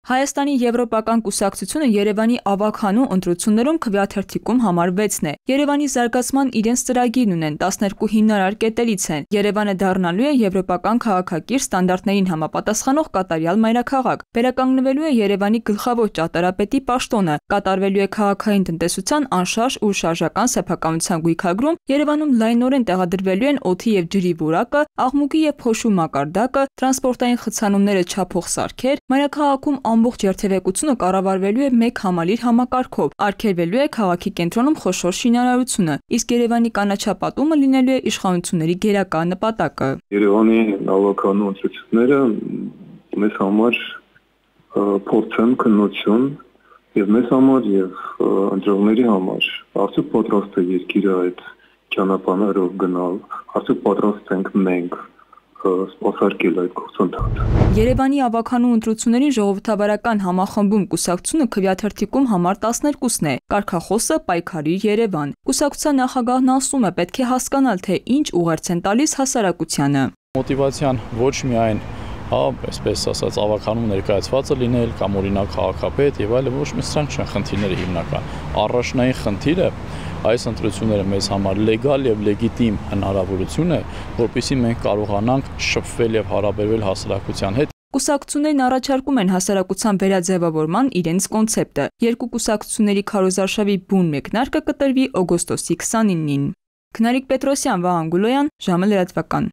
Հայաստանի եվրոպական կուսակցությունը Երևանի ավագանու ընտրություններում քվեաթերթիկում համար 6-ն է։ Երևանի զարգացման իրենց ծրագիրն ունեն 12 հիմնարար կետերից են։ Երևանը դառնալու է եվրոպական քաղաքակիր ստանդարտներին համապատասխանող կատարյալ մայրաքաղաք։ Վերականգնվելու է Երևանի գլխավոր ճարտարապետի պաշտոնը, կատարվելու է քաղաքային տնտեսության անշարժ ու շարժական սեփականության գույքագրում, Երևանում լայնորեն տեղադրվելու են օդի եւ ջրի որակը, աղմուկի եւ փոշու մակարդակը, տրանսպորտային խցանումները չափող սարքեր, մայրաքաղաքում ամբողջ երթևեկությունը կառավարվելու է մեկ համալիր համակարգով, արգելվելու է քաղաքի կենտրոնում խոշոր շինարարությունը, իսկ Երևանի կանաչապատումը լինելու է իշխանությունների գերակա նպատակը։ Երևանի ավագանու ընտրությունները մեզ համար փորձ են, քննություն եւ մեզ համար եւ ընտրողների համար արդյոք պատրաստ է երկիրը այդ ճանապարհով գնալ, արդյոք պատրաստ ենք մենք սպասարկել այդ գործընթացը։ Երևանի ավագանու ընտրությունների ժողովրդավարական համախմբում կուսակցությունը քվեաթերթիկում համար 12-ն է, կարգախոսը պայքարիր Երևան։ Կուսակցության նախագահն ասում է, պետք է հասկանալ, թե ինչ ուղերձ են տալիս հասարակությանը։ Մոտիվացիան ոչ միայն այսպես ասած ավագանում ներկայացվածը լինել կամ օրինակ քաղաքապետ եւ այլն, ոչ մի սրանք չեն խնդիրները հիմնական։ Առաջնային խնդիրը այս ընտրությունները մեզ համար լեգալ եւ լեգիտիմ հնարավորություն է, որպեսզի մենք կարողանանք շփվել եւ հարաբերվել հասարակության հետ։ Կուսակցություններն առաջարկում են հասարակության վերաձևավորման իրենց կոնցեպտը։ Երկու կուսակցությունների քարոզարշավի բուն մեկնարկը կտրվի օգոստոսի 29-ին։ Քնարիկ Պետրոսյան, Վահան Գուլոյան, ժամը լրատվական։